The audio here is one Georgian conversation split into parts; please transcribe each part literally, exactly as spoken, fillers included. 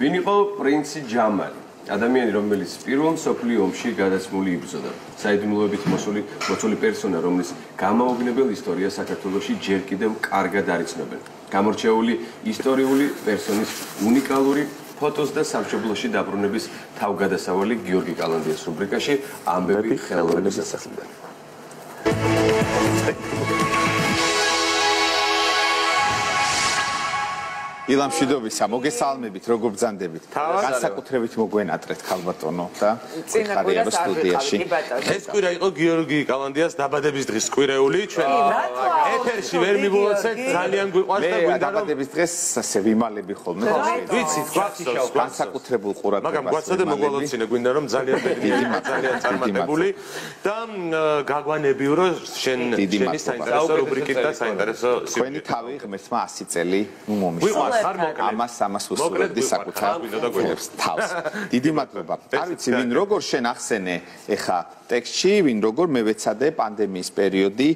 ვინ იყო პრინცი ჯამალი? ადამიანი, რომელიც პირველ მსოფლიო ომში გადაცმული იბრძოდა. საიდუმლოებით მოსული მოწული პერსონა, რომლის გამაოგნებელ ისტორიას საქართველოში ჯერ კიდევ კარგად არიცნობენ. გამორჩეული ისტორიული პერსონის უნიკალური ფოტოს და სამშობლოში დაბრუნების თავგადასავალი გიორგი კალანდიას რუბრიკაში ამბები ხელოვნების სასახლიდან. ილამ მშვიდობისა, მოგესალმებით, როგორ ბრძანდებით? განსაკუთრებით მოგვენატრეთ ქალბატონო და ხარია სტუდიაში. ეს კვირა იყო გიორგი კალანდიას დაბადების დღის კვირეული, ჩვენ ეთერში ვერ მივუოცეთ, ძალიან გვიყვარს და გვინდა რომ დაბადების დღეს ასე ვიმალები ხოლმე. ვიცით, გვახსოვს განსაკუთრებულ ყურადღებას. მაგრამ გვაცა და მოგვალოცინე, გვინდა რომ ძალიან ძალიან წარმატებული და გაგვანებიო რომ შენ შენი საინტერესო რუბრიკით და საინტერესო თქვენი თავი ღმერთმა ასი წელი მომისმა. ამას ამას უსურვებდი საკუთარ თავს. დიდი მადლობა. არ ვიცი ვინ როგორ შენ ახსენე ეხა ტექსტში, ვინ როგორ მე ვეცადე პანდემიის პერიოდი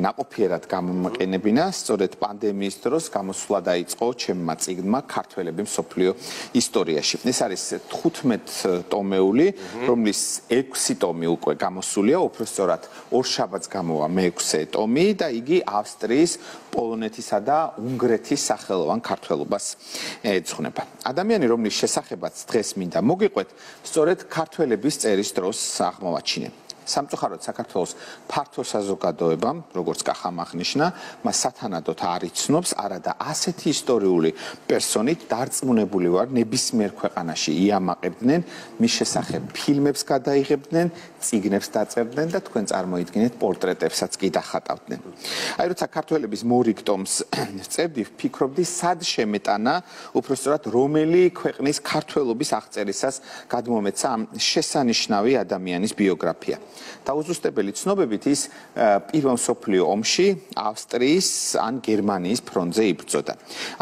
ნაყოფიერად გამომაყენებინა, სწორედ პანდემიის დროს გამოსვლა დაიწყო ჩემმა წიგნმა ქართველები მსოფლიო ისტორიაში. ეს არის თხუთმეტტომეული, რომლის ექვსი ტომი უკვე გამოსულია, უფრო სწორად ორშაბათს გამოვა მეექვსე ტომი და იგი ავსტრიის, პოლონეთისა და უნგრეთის სახელოვან ქართველობას ეძღვნება. ადამიანი, რომლის შესახებაც დღეს მინდა მოგიყვეთ, სწორედ ქართველების წერის დროს აღმოვაჩინე. სამწუხაროდ საქართველოს ფართო საზოგადოებამ, როგორც კახამ აღნიშნა, მას სათანადოდ არ იცნობს, არადა ასეთი ისტორიული პერსონით დარწმუნებული ვარ, ნებისმიერ ქვეყანაში იამაყებდნენ, მის შესახებ ფილმებს გადაიღებდნენ, წიგნებს დაწერდნენ და თქვენ წარმოიდგინეთ პორტრეტებსაც კი დახატავდნენ. აი როცა ქართველების მორიგ ტომს წერდი, ვფიქრობდი, სად შემეტანა, უпростоრად რომელი ქვეყნის ქართველობის აღწერისას გადმომეცა ამ შესანიშნავი ადამიანის ბიოგრაფია. დაუზუსტებელი ცნობებით ის პირველ მსოფლიო ომში ავსტრიის ან გერმანიის ფრონტზე იბრძოდა.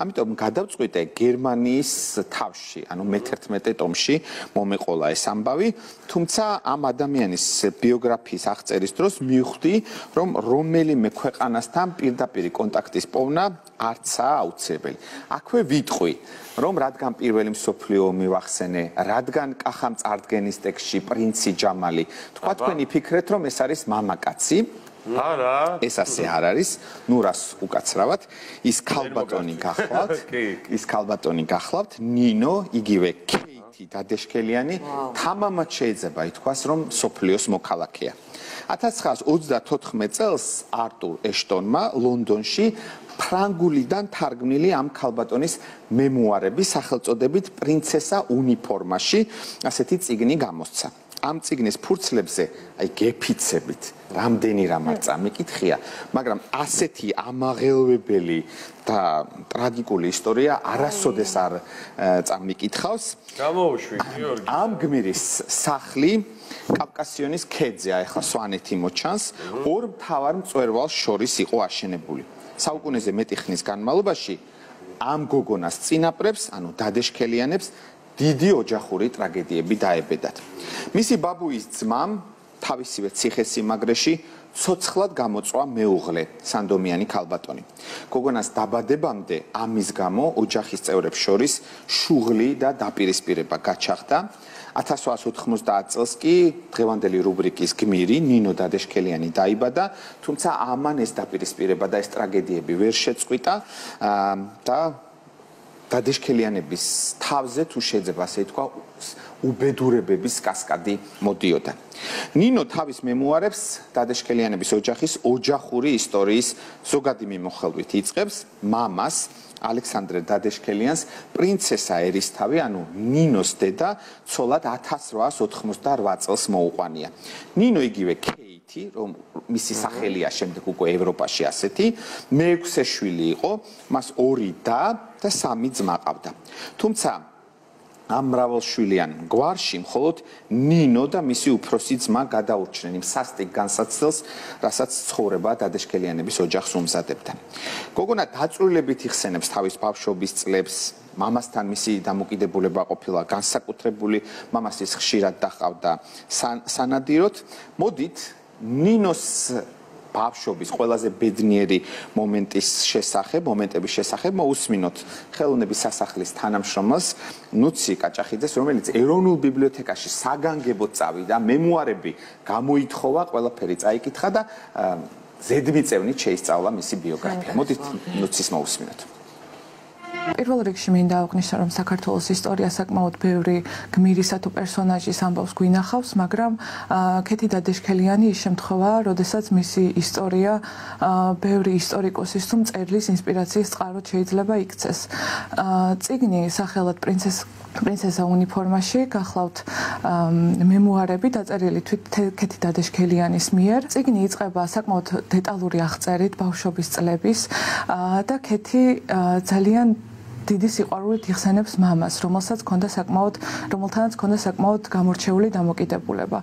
ამიტომ გადავწყვიტე გერმანიის თავში, ანუ მეთერთმეტე ტომში მომეყოლა ეს ამბავი, თუმცა ამ ადამიანის ბიოგრაფიის აღწერის დროს მივხვდი, რომ რომელიმე ქვეყანასთან პირდაპირ კონტაქტის პოვნა არცაა აუცილებელი. აქვე ვიტყვი, რომ რადგან პირველი მსოფლიო ომი ვახსენე, რადგან კახამ წარდგენის ტექსტში პრინცი ჯამალი, თქვა თქვენი ფიქრეთ, რომ ეს არის მამაკაცი. არა, ეს ასე არ არის, ნუ რას უკაცრავად, ის ქალბატონი გახლავთ, ის ქალბატონი გახლავთ, ნინო, იგივე კეითი დადეშქელიანი, თამამად შეიძლება ითქვას, რომ მსოფლიოს მოქალაქეა. ათას ცხრაას ოცდათოთხმეტ წელს არტურ ეშტონმა ლონდონში ფრანგულიდან თარგმნილი ამ ქალბატონის მემუარები სახელწოდებით პრინცესა უნიფორმაში, ასეთი წიგნი გამოსცა. ამ წიგნის ფურცლებზე, აი გეფიცებით, რამდენი რამ არ წამიკითხია, მაგრამ ასეთი ამაღელვებელი და ტრაგიკული ისტორია არასოდეს არ წამიკითხავს. გამოვშვი, გიორგი. ამ გმირის სახლი კავკასიონის ქედზე, ახლა სვანეთი მოჩანს, ორ მთავარ მწვერვალს შორის იყო აშენებული. საუკუნეზე მეტი ხნის განმავლობაში ამ გოგონას წინაპრებს, ანუ დადეშქელიანებს, დიდი ოჯახური ტრაგედიები დაებედათ. მისი ბაბუის ძმამ თავისივე ციხესიმაგრეში ცოცხლად გამოწვა მეუღლე, სანდომიანი ქალბატონი. გოგონას დაბადებამდე ამის გამო ოჯახის წევრებს შორის შუღლი და დაპირისპირება გაჩაღდა. ათას ოთხასი ოთხმოცდაათ წელს კი დღევანდელი რუბრიკის გმირი ნინო დადეშქელიანი დაიბადა, თუმცა ამან ეს დაპირისპირება და ეს ტრაგედიები ვერ შეწყვიტა და დადეშქელიანების თავზე თუ შეიძლება ასე ითქვა, უბედურებების კასკადი მოდიოდა. ნინო თავის მემუარებს დადეშქელიანების ოჯახის ოჯახური ისტორიის ზოგადი მიმოხილვით იწყებს მამას ალექსანდრე დადეშქელიანს პრინცესა ერისთავი, ანუ ნინოს დედა, ცოლად ათას რვაას ოთხმოცდარვა წელს მოუყვანია. ნინო იგივე კეითი, რომ მისი სახელია შემდეგ უკვე ევროპაში ასეთი, მეექვსე შვილი იყო, მას ორი და და სამი ძმა ყავდა. თუმცა ამ მრავალშვილიან გვარში მხოლოდ ნინო და მისი უფროსი ძმა გადაურჩნენ იმ სასტიკ განსაცდელს, რასაც ცხოვრება დადეშქელიანების ოჯახს უმზადებდა. გოგონა დაწვრილებით იხსენებს თავის ბავშვობის წლებს, მამასთან მისი დამოკიდებულება ყოფილა განსაკუთრებული, მამას ის ხშირად დაჰყავდა სანადიროდ. მოდით ნინოს ბავშვობის ყველაზე ბედნიერი მომენტის შესახებ, მომენტების შესახებ მოусმინოთ ხელოვნების სასახლის თანამშრომელს ნუცი კაჭახიძეს, რომელიც ეროვნულ ბიბლიოთეკაში საგანგებოდ წავიდა, მემუარები გამოითხოვა, ყველაფერი წაიკითხა და ზედმიწევნით შეისწავლა მისი ბიოგრაფია. მოდით ნუცის მოусმინოთ. პირველ რიგში მინდა აღნიშნო, რომ საქართველოს ისტორია საკმაოდ ბევრი გმირისა თუ პერსონაჟის ამბავს გვინახავს, მაგრამ ქეთი დადეშქელიანი ის შემთხვევაა, როდესაც მისი ისტორია ბევრი ისტორიკოსის თუ მწერლის ინსპირაციის წყაროდ შეიძლება იქცეს. წიგნი სახელად პრინცესა პრინცესა უნიფორმაში გახლავთ მემუარები დაწერილი თვით ქეთი დადეშქელიანის მიერ. წიგნი იწყება საკმაოდ დეტალური აღწერით ბავშვობის წლების და ქეთი ძალიან დიდი სიყვარულით იხსენებს მამას, რომელსაც ჰქონდა საკმაოდ, რომელთანაც ჰქონდა საკმაოდ გამორჩეული დამოკიდებულება.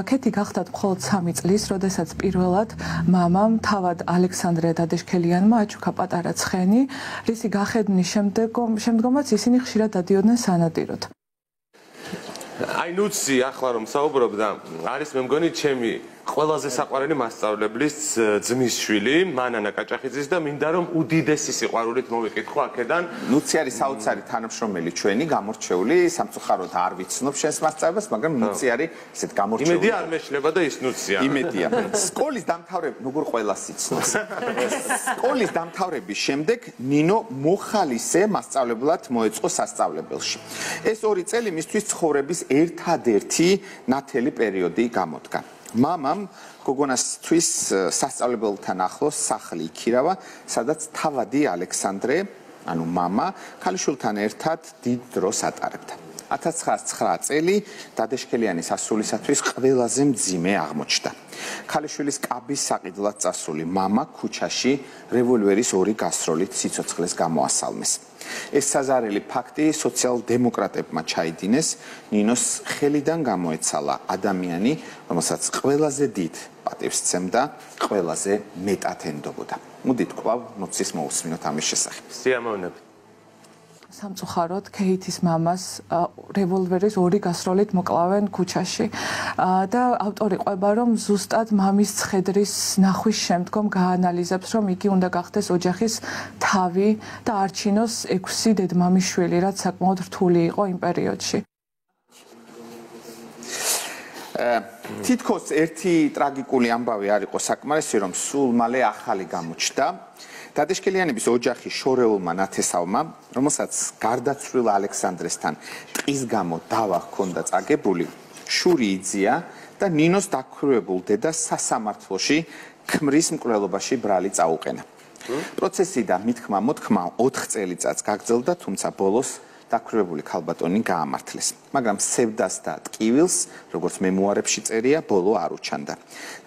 ქეთი გახდათ მხოლოდ სამი წლის, როდესაც პირველად მამამ თავად ალექსანდრე დადეშქელიანმა აჩუქა პატარა ცხენი, რისი გახედნის შემდგომაც ისინი ხშირად დადიოდნენ სანადიროდ. აი ნუცი ახლა რომ საუბრობდა, არის მე მგონი ჩემი ყველაზე საყვარელი მასწავლებლის ძმის შვილი, მანანა კაჭახიძის და მინდა რომ უდიდესი სიყვარულით მოვიკითხო აქედან. ნუცი არის საოცარი თანამშრომელი ჩვენი, გამორჩეული, სამწუხაროდ არ ვიცნობ შენს მასწავლებას, მაგრამ ნუცი არის ესეთ გამორჩეული. იმედია არ მეშლება და ის ნუცია. იმედია. სკოლის დამთავრება, როგორ ყველას იცნობს. სკოლის დამთავრების შემდეგ ნინო მოხალისე მასწავლებლად მოეწყო სასწავლებელში. ეს ორი წელი მისთვის ცხოვრების ერთადერთი ნათელი პერიოდი გამოდგა. მამამ გოგონასთვის სასწავლებელთან ახლოს სახლი იქირავა, სადაც თავადი ალექსანდრე, ანუ მამა, ქალიშვილთან ერთად დიდ დროს ატარებდა. ათას ცხრაას ცხრა წელი დადეშქელიანის ასულისათვის ყველაზე მძიმე აღმოჩნდა. ქალიშვილის კაბის საყიდლად წასული მამა ქუჩაში რევოლვერის ორი გასროლით სიცოცხლეს გამოასალმეს. ეს საზარელი ფაქტი სოციალ-დემოკრატებმა ჩაიდინეს, ნინოს ხელიდან გამოეცალა ადამიანი, რომელსაც ყველაზე დიდ პატივს სცემდა, ყველაზე მეტად ენდობოდა. მოდით კვლავ ნუცის მოусმინოთ ამის შესახებ. სიამოვნებით. სამწუხაროდ ქეითის მამას რევოლვერის ორი გასროლით მოკლავენ ქუჩაში და ავტორი ყვება, რომ ზუსტად მამის ცხედრის ნახვის შემდგომ გაანალიზებს, რომ იგი უნდა გახდეს ოჯახის თავი და არჩინოს ექვსი დედმამიშვილი, რაც საკმაოდ რთული იყო იმ პერიოდში. თითქოს ერთი ტრაგიკული ამბავი არ იყო საკმარისი, რომ სულ მალე ახალი გამოჩნდა. დადეშქელიანების ოჯახი შორეულმა ნათესავმა, რომელსაც გარდაცვლილ ალექსანდრესთან ტყის გამო დავა ჰქონდა წაგებული, შური იძია და ნინოს დაქვრივებულ დედას სასამართლოში ქმრის მკვლელობაში ბრალი წაუყენა. პროცესი და მithქმა მოთქმა ოთხ წელიწადს გაგრძელდა, თუმცა ბოლოს დაქვრივებული ქალბატონი გაამართლეს. მაგრამ სევდას და ტკივილს, როგორც მემუარებში წერია, ბოლო არ უჩანდა.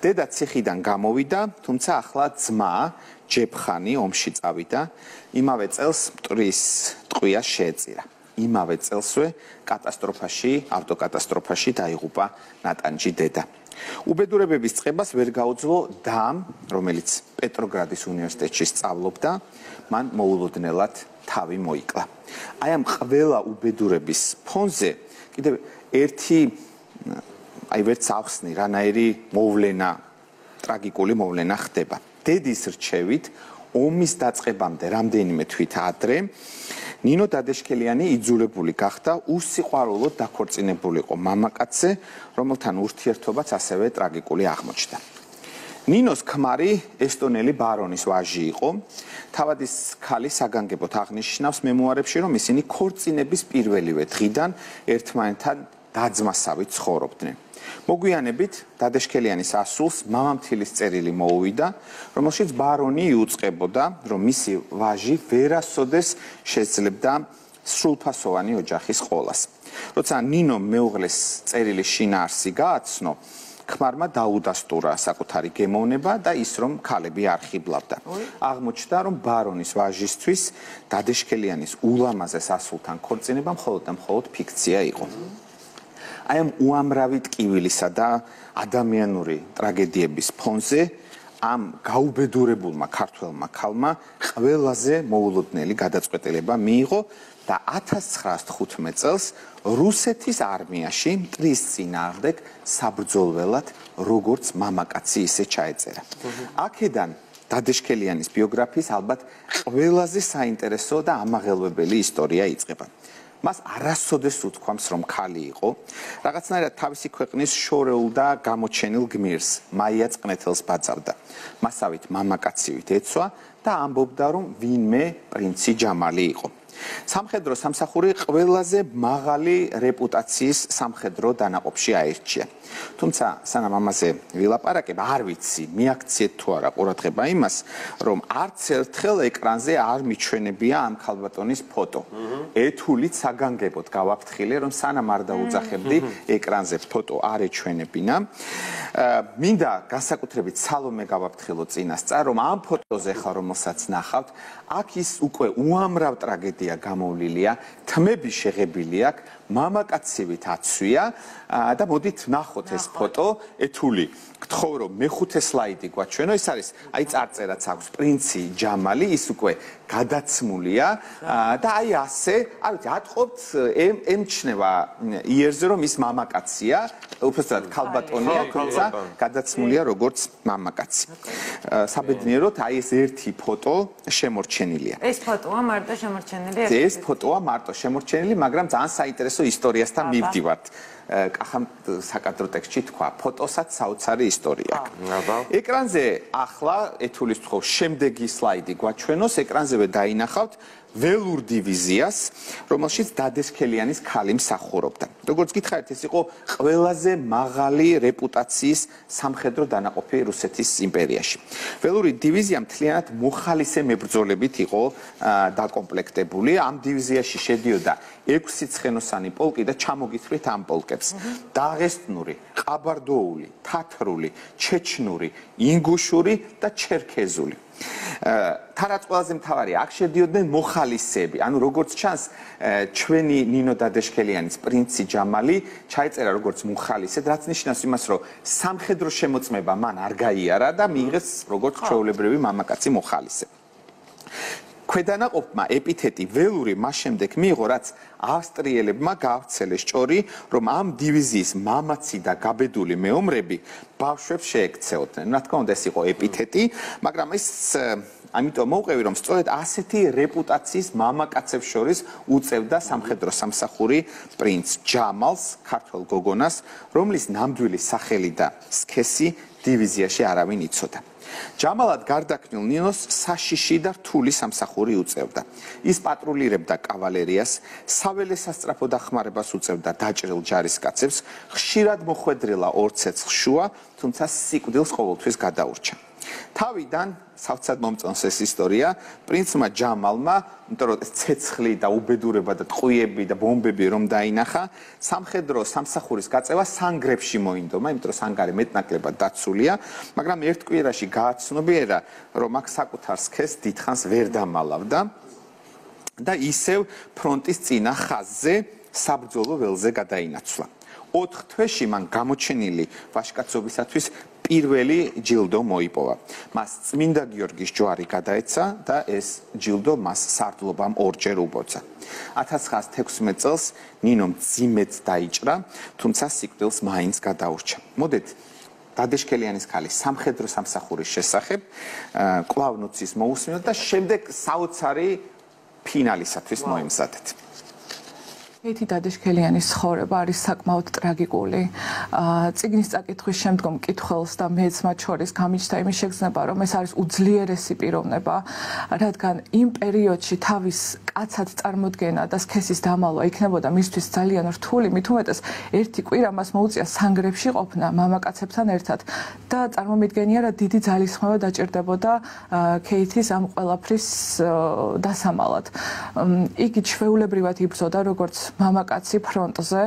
დედა ციხიდან გამოვიდა, თუმცა ახლა ძმა ჯეფხანი ომში წავიდა, იმავე წელს მტრის ტყვია შეეწირა. იმავე წელსვე კატასტროფაში, ავტოკატასტროფაში დაიღუპა ნატანჯი დედა. უბედურებების წყებას ვერ გაუძლო დამ, რომელიც პეტროგრადის უნივერსიტეტში სწავლობდა, მან მოულოდნელად თავი მოიკლა. აი ამ ყველა უბედურების ფონზე კიდევ ერთი აი ვერც ახსნი რანაირი მოვლენა, ტრაგიკული მოვლენა ხდება. დედის რჩევით ომის დაწყებამდე რამდენიმე თვით ადრე ნინო დადეშქელიანი იძულებული გახდა უსიყვარულოდ დაქორწინებულიყო მამაკაცზე, რომელთან ურთიერთობაც ასევე ტრაგიკული აღმოჩნდა. ნინოს ქმარი ესტონელი ბარონის ვაჟი იყო. თავადის ქალი საგანგებოდ აღნიშნავს მემუარებში, რომ ისინი ქორწინების პირველივე დღიდან ერთმანეთთან დაძმასავით ცხოვრობდნენ. მოგვიანებით დადეშქელიანის ასულს მამამთილის წერილი მოუვიდა, რომელშიც ბარონი იუწყებოდა, რომ მისი ვაჟი ვერასოდეს შეძლებდა სრულფასოვანი ოჯახის ყოლას. როცა ნინო მეუღლეს წერილი შინაარსი გააცნო, ქმარმა დაუდასტურა საკუთარი გემოვნება და ის რომ ქალები არ ხიბლავდა. აღმოჩნდა, რომ ბარონის ვაჟისთვის დადეშქელიანის ულამაზეს ასულთან ქორწინება მხოლოდ და მხოლოდ ფიქცია იყო. აი ამ უამრავი ტკივილისა და ადამიანური ტრაგედიების ფონზე ამ გაუბედურებულმა ქართველმა ქალმა ყველაზე მოულოდნელი გადაწყვეტილება მიიღო და ათას ცხრაასი თხუთმეტ წელს რუსეთის არმიაში მტრის წინააღმდეგ საბრძოლველად როგორც მამაკაცი ისე ჩაეწერა. აქედან დადეშქელიანის ბიოგრაფიის ალბათ ყველაზე საინტერესო და ამაღელვებელი ისტორია იწყება. მას არასოდეს უთქვამს, რომ ქალი იყო, რაღაცნაირად თავისი ქვეყნის შორეულ და გამოჩენილ გმირს, მაია წყნეთელს ბაძავდა. მასავით მამაკაცივით ეცვა და ამბობდა, რომ ვინმე პრინცი ჯამალი იყო. სამხედრო სამსახური ყველაზე მაღალი რეპუტაციის სამხედრო დანაყოფში აირჩია. თუმცა სანამ ამაზე ვილაპარაკებ, არ ვიცი, მიაქციეთ თუ არა ყურადღება იმას, რომ არც ერთხელ ეკრანზე არ მიჩვენებია ამ ქალბატონის ფოტო. ეთულით საგანგებოდ გავაფრთხილე, რომ სანამ არ დაუძახებდი ეკრანზე ფოტო არ ეჩვენებინა. მინდა განსაკუთრებით სალომე გავაფრთხილო წინასწარ, რომ ამ ფოტოზე ხა რომელსაც ნახავთ, აქ ის უკვე უამრავ ტრაგედია გამოვლილია, თმები შეღებილი აქვს, მამაკაცივით აცვია და მოდით ნახოთ ეს ფოტო, ეთული. გთხოვ რომ მეხუთე სლაიდი გვაჩვენო, ეს არის აი წარწერაც აქვს პრინცი ჯამალი, ის უკვე გადაცმულია და აი ასე, არ ვიცი, ატყობთ ემჩნევა იერზე რომ ის მამაკაცია, უბრალოდ ქალბატონია, თუმცა გადაცმულია როგორც მამაკაცი. საბედნიეროდ აი ეს ერთი ფოტო შემორჩენილია. ეს ფოტოა მარტო შემორჩენილი? ეს ფოტოა მარტო შემორჩენილი, მაგრამ ძალიან საინტერესო ისტორიასთან მივდივართ. კახამ საკადრო ტექსტში თქვა, ფოტოსაც საოცარი ისტორია აქვს. ეკრანზე ახლა ეთულის თქო შემდეგი სლაიდი გვაჩვენოს, ეკრანზევე დაინახავთ ველურ დივიზიას, რომელშიც დადეშქელიანის ქალი მსახურობდა. როგორც გითხარით, ეს იყო ყველაზე მაღალი რეპუტაციის სამხედრო დანაყოფი რუსეთის იმპერიაში. ველური დივიზია მთლიანად მოხალისე მებრძოლებით იყო დაკომპლექტებული. ამ დივიზიაში შედიოდა ექვსი ცხენოსანი პოლკი და ჩამოგითხრით ამ პოლკებს. დაღესტნური, ყაბარდოული, თათრული, ჩეჩნური, ინგუშური და ჩერქეზული. თარაც ყველაზე მთავარია, აქ შედიოდნენ მოხალისეები. ანუ როგორც ჩანს, ჩვენი ნინო დადეშქელიანის პრინცი ჯამალი ჩაეწერა როგორც მოხალისედ, რაც ნიშნავს იმას, რომ სამხედრო შემოწმება მან არ გაიარა და მიიღეს როგორც ჩვეულებრივი მამაკაცი მოხალისე. ქვედანაყოფმა ეპითეტი ველური მას შემდეგ მიიღო, რაც ავსტრიელებმა გაავრცელეს ჭორი, რომ ამ დივიზიის მამაცი და გაბედული მეომრები ბავშვებს შეექცეოდნენ. რა თქმა უნდა, ეს იყო ეპითეტი, მაგრამ ეს ამიტომ მოვყევი, რომ სწორედ ასეთი რეპუტაციის მამაკაცებს შორის უწევდა სამხედრო სამსახური პრინც ჯამალს, ქართველ გოგონას, რომლის ნამდვილი სახელი და სქესი დივიზიაში არავინ იცოდა. ჯამალად გარდაქმნილ ნინოს საშიში და რთული სამსახური უწევდა. ის პატრულირებდა კავალერიას, საველე სასწრაფო დახმარებას უწევდა დაჭრილ ჯარისკაცებს, ხშირად მოხვედრილა ორ ცეცხლ შუა, თუმცა სიკვდილს ყოველთვის გადაურჩა. თავიდან სავცად მომწონს ეს ისტორია, პრინცმა ჯამალმა, იმიტომ რომ ცეცხლი და უბედურება და ტყვიები და ბომბები რომ დაინახა, სამხედრო სამსახურის გაწევა სანგრებში მოინდომა, იმიტომ რომ სანგარი მეტნაკლებად დაცულია, მაგრამ ერთ კვირაში გააცნობიერა, რომ აქ საკუთარ სქესს დიდხანს ვერ დამალავდა და ისევ ფრონტის წინა ხაზზე საბრძოლო ველზე გადაინაცვლა. ოთხ თვეში მან გამოჩენილი ვაჟკაცობისათვის პირველი ჯილდო მოიპოვა. მას წმინდა გიორგის ჯვარი გადაეცა და ეს ჯილდო მას სარდლობამ ორჯერ უბოცა. ათას ცხრაასი თექვსმეტ წელს ნინომ ძიმედ დაიჭრა, თუმცა სიკვდილს მაინც გადაურჩა. მოდით დადეშქელიანის ქალის სამხედრო სამსახურის შესახებ კვლავ ნოცის მოусმინოთ და შემდეგ საოცარი ფინალისათვის მოემზადეთ. კეითი დადეშქელიანის ცხოვრება არის საკმაოდ ტრაგიკული. წიგნის წაკითხვის შემდგომ მკითხველს და მეც მათ შორის გამიჩნდა იმის შეგრძნება, რომ ეს არის უძლიერესი პიროვნება, რადგან იმ პერიოდში თავის კაცად წარმოდგენა და სქესის დამალვა იქნებოდა მისთვის ძალიან რთული, მით უმეტეს ერთი კვირა მას მოუწია სანგრებში ყოფნა მამაკაცებთან ერთად და წარმომიდგენია, რა დიდი ძალისხმევა დაჭირდებოდა კეითის ამ ყველაფრის დასამალად. იგი ჩვეულებრივად იბრძოდა როგორც მამაკაცი ფრონტზე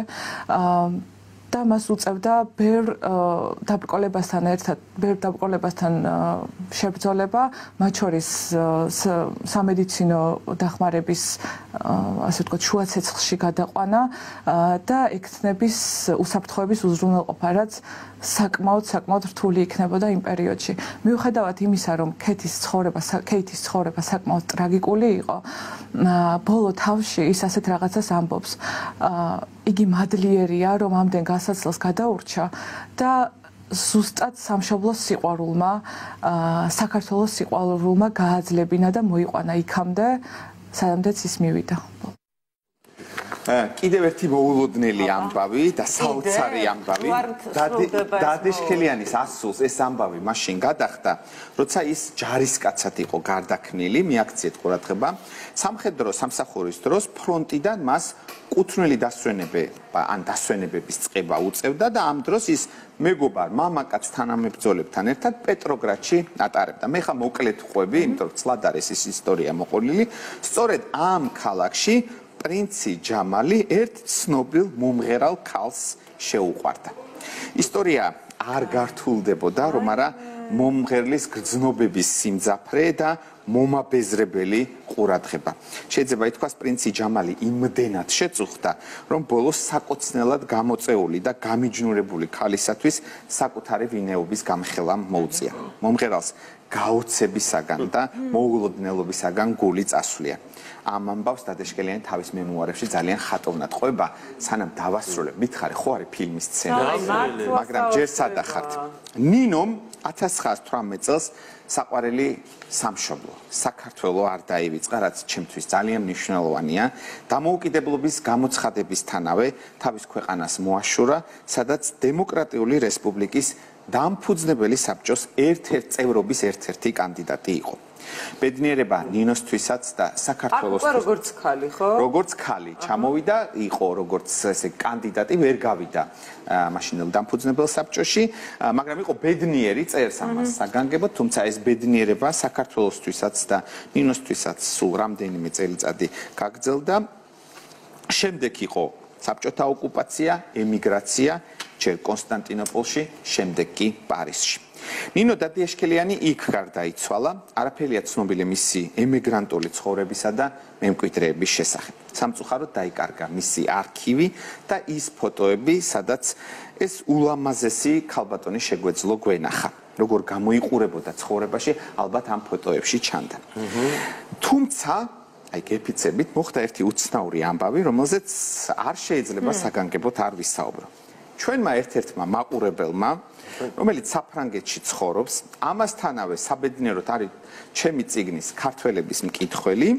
და მას უწევდა ბევრ დაბრკოლებასთან ერთად, ბევრ დაბრკოლებასთან შებრძოლება, მათ შორის სამედიცინო დახმარების ასე ვთქვათ, შუა ცეცხლში გადაყვანა და ექთნების უსაფრთხოების უზრუნველყოფა, რაც საკმაოდ საკმაოდ რთული იქნებოდა იმ პერიოდში. მიუხედავად იმისა, რომ ქეთის ცხოვრება, ქეითის ცხოვრება საკმაოდ ტრაგიკული იყო, ბოლო თავში ის ასეთ რაღაცას ამბობს. იგი მადლიერია, რომ ამდენ გასაცლელს გადაურჩა და ზუსტად სამშობლოს სიყვარულმა, საქართველოს სიყვარულმა გააძლებინა და მოიყვანა იქამდე, სადამდეც ის მივიდა. კიდევ ერთი მოულოდნელი ამბავი და საოცარი ამბავი. დადეშქელიანის ასულს ეს ამბავი მაშინ გადახდა, როცა ის ჯარისკაცად იყო გარდაქმნილი, მიაქციეთ ყურადღება. სამხედრო სამსახურის დროს ფრონტიდან მას კუთვნილი დასვენება ან დასვენებების წყება უწევდა და ამ დროს ის მეგობარ მამაკაც თანამებრძოლებთან ერთად პეტროგრადში ატარებდა. მე ხა მოკლედ ყვები, იმიტომ რომ ცლად არის ის ისტორია მოყოლილი. სწორედ ამ ქალაქში პრინცი ჯამალი ერთ ცნობილ მომღერალ ქალს შეუყვარდა. ისტორია არ გართულდებოდა, რომ არა მომღერლის გრძნობების სიმძაფრე და მომაბეზრებელი ყურადღება. შეიძლება ითქვას, პრინცი ჯამალი იმდენად შეწუხდა, რომ ბოლოს საკოცნელად გამოწეული და გამიჯნურებული ქალისათვის საკუთარი ვინეობის გამხელა მოუწია. მომღერალს გაოცებისაგან და მოულოდნელობისაგან გული წასვლია. ამ ამბავს დადეშქელიანი თავის მემუარებში ძალიან ხატოვნად ყვება, სანამ დავასრულებ. მითხარი, ხო არის ფილმის სცენა, მაგრამ ჯერ სადახართ. ნინომ ათას ცხრაასი თვრამეტ წელს საყვარელი სამშობლო, საქართველო არ დაივიწყა, რაც ჩემთვის ძალიან მნიშვნელოვანია. დამოუკიდებლობის გამოცხადებისთანავე თავის ქვეყანას მოაშურა, სადაც დემოკრატიული რესპუბლიკის დამფუძნებელი საბჭოს ერთ-ერთ წევრობის ერთ-ერთი კანდიდატი იყო. ბედნიერება ნინოსთვისაც და საქართველოსთვის. როგორც ხალი, ხო? როგორც ხალი ჩამოვიდა, იყო როგორც ესე კანდიდატი, ვერ გავიდა მაშინელ დამფუძნებელ საბჭოში, მაგრამ იყო ბედნიერი წერს ამას საგანგებოდ, თუმცა ეს ბედნიერება საქართველოსთვისაც და ნინოსთვისაც სულ რამდენიმე წელიწადი გაგრძელდა. შემდეგ იყო საბჭოთა ოკუპაცია, ემიგრაცია, ჯერ კონსტანტინოპოლში, შემდეგ კი პარიზში. ნინო დადიაშქელიანი იქ გარდაიცვალა, არაფერია ცნობილი მისი ემიგრანტული ცხოვრებისა და მემკვიდრეების შესახებ. სამწუხაროდ დაიკარგა მისი არქივი და ის ფოტოები, სადაც ეს ულამაზესი ქალბატონი შეგვეძლო გვენახა. როგორ გამოიყურებოდა ცხოვრებაში, ალბათ ამ ფოტოებში ჩანდა. თუმცა აი გეფიცებით მოხდა ერთი უცნაური ამბავი, რომელზეც არ შეიძლება საგანგებოდ არ ვისაუბრო. ჩვენმა ერთ-ერთმა მაყურებელმა, რომელიც საფრანგეთში ცხოვრობს, ამასთანავე საბედნიეროდ არის ჩემი წიგნის ქართველების მკითხველი,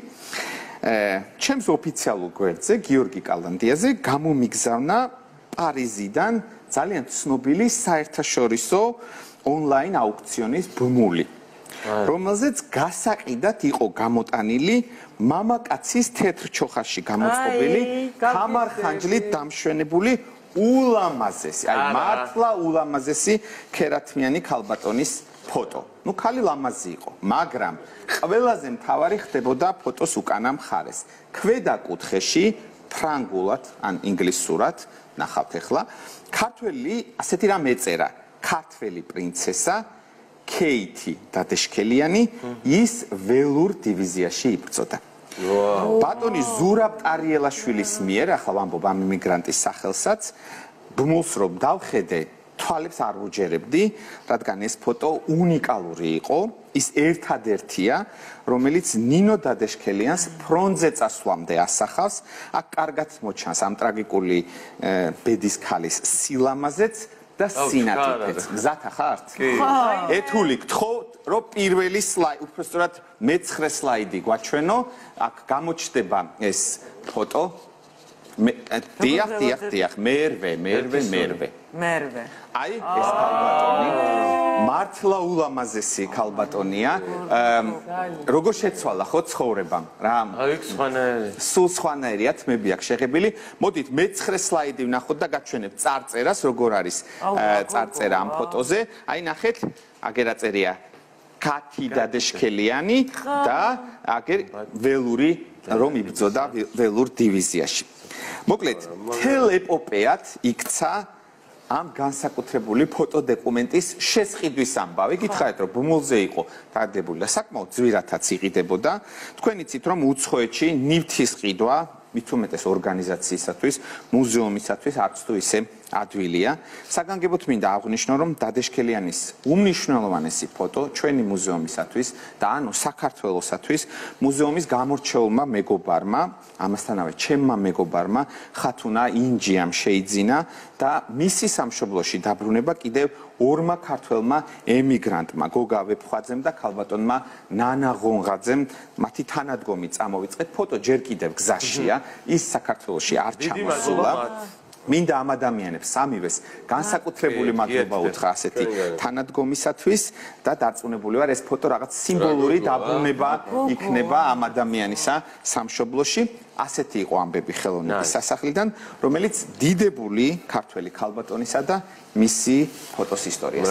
ჩემს ოფიციალურ გვერდზე, გიორგი კალანდიაზე გამომიგზავნა პარიზიდან ძალიან ცნობილი საერთაშორისო ონლაინ აუქციონის ბმული, რომელზეც გასაყიდად იყო გამოტანილი მამაკაცის თეთრ ჩოხაში გამოწყობილი, თამარ-ხანჯლით დამშვენებული ულამაზესი, აი მართლა ულამაზესი ქერათმიანი ქალბატონის ფოტო. ნუ ქალი ლამაზი იყო, მაგრამ ყველაზე მთავარი ხდებოდა ფოტოს უკანა მხარეს. ქვედა კუთხეში ფრანგულად ან ინგლისურად, ნახავთ ახლა, ქართველი ასეთი რამ ეწერა, ქართველი პრინცესა ქეითი დადეშქელიანი ის ველურ დივიზიაში იბრძოდა. ბატონი ზურაბ ტარიელაშვილის მიერ, ახლა ვამბობ ამ იმიგრანტის სახელსაც, ბმულს რომ დავხედე, თვალებს არ ვუჯერებდი, რადგან ეს ფოტო უნიკალური იყო, ის ერთადერთია, რომელიც ნინო დადეშქელიანს ფრონტზე წასვლამდე ასახავს, აქ კარგად მოჩანს ამ ტრაგიკული ბედის ქალის სილამაზეც და სინათლეც. გზათა ხართ? ეთული გთხოვთ, რომ პირველი სლაიდი, უბრალოდ მეცხრე სლაიდი გვაჩვენო, აქ გამოჩნდება ეს ფოტო. დიახ, დიახ, დიახ, მერვე, მერვე, მერვე. მერვე. აი, ეს ქალბატონი მართლა ულამაზესი ქალბატონია. როგორ შეცვალა ხო ცხოვრებამ? რა? აი, სხვანაირი. სულ სხვანაირი ათმები აქვს შეღებილი. მოდით მეცხრე სლაიდი ვნახოთ და გაჩვენებთ წარწერას, როგორ არის წარწერა ამ ფოტოზე. აი, ნახეთ, აგერ აწერია ქათი დადეშქელიანი და აგერ ველური რომ იბრძოდა ველურ დივიზიაში. მოკლედ, თელ ეპოპეად იქცა ამ განსაკუთრებული ფოტოდოკუმენტის შესყიდვის ამბავი. გითხარით, რომ ბუმულზე იყო დადებული და საკმაოდ ძვირადაც იყიდებოდა. თქვენ იცით, რომ უცხოეთში ნივთის ყიდვა მით უმეტეს ორგანიზაციისათვის, მუზეუმისათვის არც თუ ისე ადვილია. საგანგებოდ მინდა აღვნიშნო, რომ დადეშქელიანის უმნიშვნელოვანესი ფოტო ჩვენი მუზეუმისათვის და ანუ საქართველოსათვის მუზეუმის გამორჩეულმა მეგობარმა, ამასთანავე ჩემმა მეგობარმა ხათუნა ინჯიამ შეიძინა და მისი სამშობლოში დაბრუნება კიდევ ორმა ქართველმა ემიგრანტმა, გოგა ვეფხვაძემ და ქალბატონმა ნანა ღონღაძემ, მათი თანადგომი წამოვიწყეთ. ფოტო ჯერ კიდევ გზაშია, ის საქართველოში არ ჩამოსულა. მინდა ამ ადამიანებს სამივეს განსაკუთრებული მადლობა უთხრა ასეთი თანადგომისათვის და დარწმუნებული ვარ, ეს ფოტო რაღაც სიმბოლური დაბრუნება იქნება ამ ადამიანისა სამშობლოში. ასეთი იყო ამბები ხელოვნების სასახლიდან, რომელიც დიდებული ქართველი ქალბატონისა და მისი ფოტოს ისტორიას.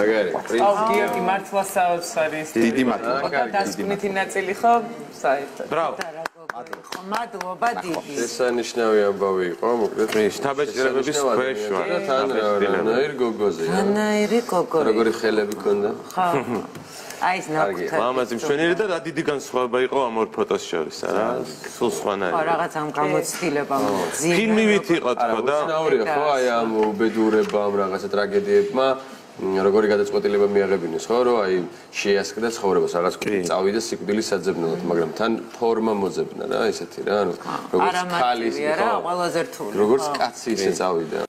აუ, გიორგი, მართლა საოცარი. დიდი მადლობა. დასკვნითი ნაწილი ხო? საერთოდ. ბრავო. მადლობა დიდი. შესანიშნავი ამბავი იყო, მოკლედ. შთაბეჭდილებების ქვეშ ვარ. თან რანაირ გოგოზე. რანაირი გოგო. როგორი ხელები ქონდა? ხო. აი ეს ნაკუთარი. მამაზი მშვენიერი და რა დიდი განსხვავება იყო ამ ორ ფოტოს შორის, არა? სულ სხვანაირი. ხო, რაღაც ამ გამოცდილება მოძინა. ფილმივით იყო თქო და უცნაურია ხო აი ამ უბედურებამ, რაღაცა ტრაგედიებმა როგორი გადაწყვეტილება მიაღებინეს ხო რომ აი შეასყიდა ცხოვრებას რაღაც წავიდა სიკვდილის საძებნელად მაგრამ თან ფორმა მოძებნა რა ესეთი რა ანუ როგორც ქალის არა ყველაზე რთული როგორც კაცი ისე წავიდა